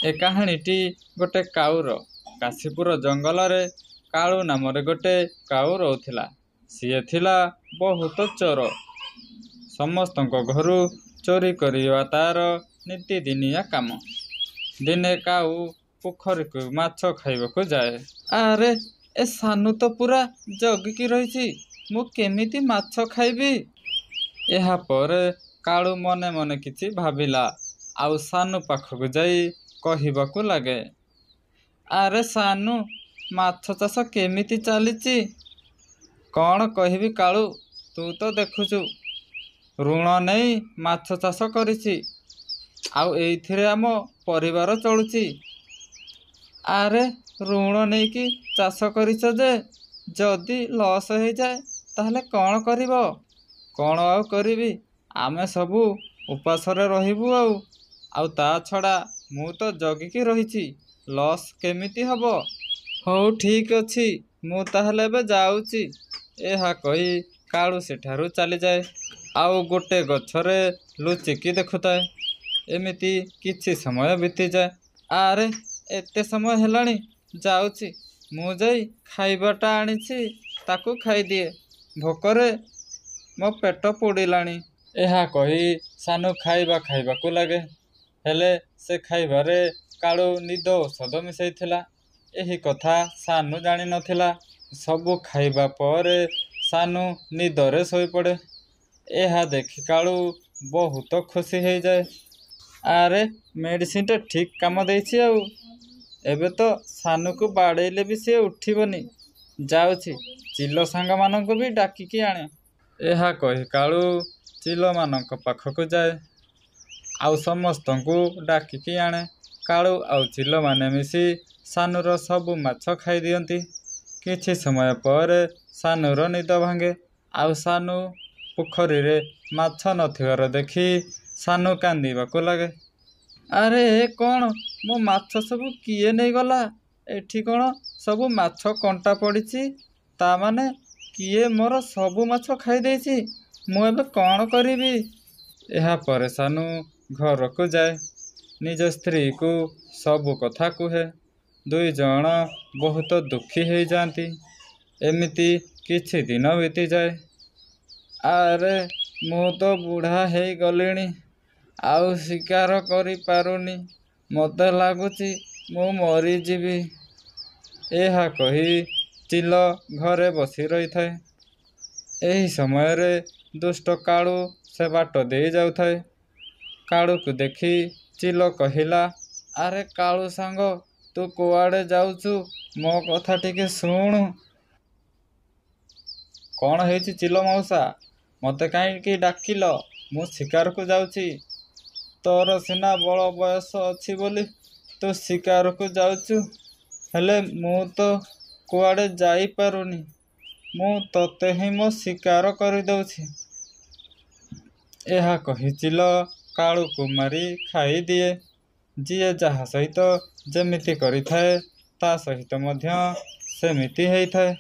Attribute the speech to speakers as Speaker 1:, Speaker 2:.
Speaker 1: ଏ କାହାଣୀଟି ଗୋଟେ କାଉର। କାଶୀପୁର ଜଙ୍ଗଲରେ କାଳୁ ନାମରେ ଗୋଟେ କାଉ ରହୁଥିଲା। ସିଏ ଥିଲା ବହୁତ ଚୋର। ସମସ୍ତଙ୍କ ଘରୁ ଚୋରି କରିବା ତାର ନିତିଦିନିଆ କାମ। ଦିନେ କାଉ ପୋଖରୀକୁ ମାଛ ଖାଇବାକୁ ଯାଏ। ଆରେ, ଏ ସାନୁ ତ ପୁରା ଜଗିକି ରହିଛି, ମୁଁ କେମିତି ମାଛ ଖାଇବି? ଏହାପରେ କାଳୁ ମନେ ମନେ କିଛି ଭାବିଲା ଆଉ ସାନୁ ପାଖକୁ ଯାଇ କହିବାକୁ ଲାଗେ, ଆରେ ସାନୁ, ମାଛ ଚାଷ କେମିତି ଚାଲିଛି? କ'ଣ କହିବି କାଳୁ, ତୁ ତ ଦେଖୁଛୁ, ଋଣ ନେଇ ମାଛ ଚାଷ କରିଛି ଆଉ ଏଇଥିରେ ଆମ ପରିବାର ଚଳୁଛି। ଆରେ, ଋଣ ନେଇକି ଚାଷ କରିଛ ଯେ, ଯଦି ଲସ୍ ହେଇଯାଏ ତାହେଲେ କ'ଣ କରିବ? କ'ଣ ଆଉ କରିବି, ଆମେ ସବୁ ଉପାସରେ ରହିବୁ ଆଉ। ଆଉ ତା ଛଡ଼ା ମୁଁ ତ ଜଗିକି ରହିଛି, ଲସ୍ କେମିତି ହବ? ହଉ ଠିକ୍ ଅଛି, ମୁଁ ତାହେଲେ ଏବେ ଯାଉଛି। ଏହା କହି କାଳୁ ସେଠାରୁ ଚାଲିଯାଏ ଆଉ ଗୋଟେ ଗଛରେ ଲୁଚିକି ଦେଖୁଥାଏ। ଏମିତି କିଛି ସମୟ ବିତିଯାଏ। ଆରେ, ଏତେ ସମୟ ହେଲାଣି, ଯାଉଛି ମୁଁ ଯାଇ ଖାଇବାଟା ଆଣିଛି ତାକୁ ଖାଇଦିଏ, ଭୋକରେ ମୋ ପେଟ ପୋଡ଼ିଲାଣି। ଏହା କହି ସାନୁ ଖାଇବା ଖାଇବାକୁ ଲାଗେ। ହେଲେ ସେ ଖାଇବାରେ କାଳୁ ନିଦ ଔଷଧ ମିଶାଇଥିଲା। ଏହି କଥା ସାନୁ ଜାଣିନଥିଲା। ସବୁ ଖାଇବା ପରେ ସାନୁ ନିଦରେ ଶୋଇପଡ଼େ। ଏହା ଦେଖି କାଳୁ ବହୁତ ଖୁସି ହେଇଯାଏ। ଆରେ, ମେଡ଼ିସିନଟା ଠିକ୍ କାମ ଦେଇଛି ଆଉ। ଏବେ ତ ସାନୁକୁ ବାଡ଼େଇଲେ ବି ସିଏ ଉଠିବନି। ଯାଉଛି ଚିଲ ସାଙ୍ଗମାନଙ୍କୁ ବି ଡାକିକି ଆଣେ। ଏହା କହି କାଳୁ ଚିଲମାନଙ୍କ ପାଖକୁ ଯାଏ ଆଉ ସମସ୍ତଙ୍କୁ ଡାକିକି ଆଣେ। କାଳୁ ଆଉ ଚିଲମାନେ ମିଶି ସାନୁର ସବୁ ମାଛ ଖାଇଦିଅନ୍ତି। କିଛି ସମୟ ପରେ ସାନୁର ନିଦ ଭାଙ୍ଗେ ଆଉ ସାନୁ ପୋଖରୀରେ ମାଛ ନଥିବାର ଦେଖି ସାନୁ କାନ୍ଦିବାକୁ ଲାଗେ। ଆରେ, ଏ କ'ଣ? ମୋ ମାଛ ସବୁ କିଏ ନେଇଗଲା? ଏଠି କ'ଣ ସବୁ ମାଛ କଣ୍ଟା ପଡ଼ିଛି? ତା ମାନେ କିଏ ମୋର ସବୁ ମାଛ ଖାଇଦେଇଛି। ମୁଁ ଏବେ କ'ଣ କରିବି? ଏହାପରେ ସାନୁ ଘରକୁ ଯାଏ। ନିଜ ସ୍ତ୍ରୀକୁ ସବୁ କଥା କୁହେ। ଦୁଇ ଜଣ ବହୁତ ଦୁଃଖୀ ହେଇଯାଆନ୍ତି। ଏମିତି କିଛି ଦିନ ବିତିଯାଏ। ଆରେ, ମୁଁ ତ ବୁଢ଼ା ହେଇଗଲିଣି, ଆଉ ଶିକାର କରିପାରୁନି। ମୋତେ ଲାଗୁଛି ମୁଁ ମରିଯିବି। ଏହା କହି ଚିଲ ଘରେ ବସି ରହିଥାଏ। ଏହି ସମୟରେ ଦୁଷ୍ଟ କାଳୁ ସେ ବାଟ ଦେଇ ଯାଉଥାଏ। କାଳୁକୁ ଦେଖି ଚିଲ କହିଲା, ଆରେ କାଳୁ ସାଙ୍ଗ, ତୁ କୁଆଡ଼େ ଯାଉଛୁ? ମୋ କଥା ଟିକେ ଶୁଣୁ। କ'ଣ ହେଇଛି ଚିଲ ମଉସା, ମୋତେ କାହିଁକି ଡାକିଲ? ମୁଁ ଶିକାରକୁ ଯାଉଛି। ତୋର ସିନା ବଳ ବୟସ ଅଛି ବୋଲି ତୁ ଶିକାରକୁ ଯାଉଛୁ, ହେଲେ ମୁଁ ତ କୁଆଡ଼େ ଯାଇପାରୁନି। ମୁଁ ତୋତେ ହିଁ ମୋ ଶିକାର କରିଦେଉଛି। ଏହା କହି ଚିଲ କାଳୁକୁ ମାରି ଖାଇଦିଏ। ଯିଏ ଯାହା ସହିତ ଯେମିତି କରିଥାଏ, ତା ସହିତ ମଧ୍ୟ ସେମିତି ହେଇଥାଏ।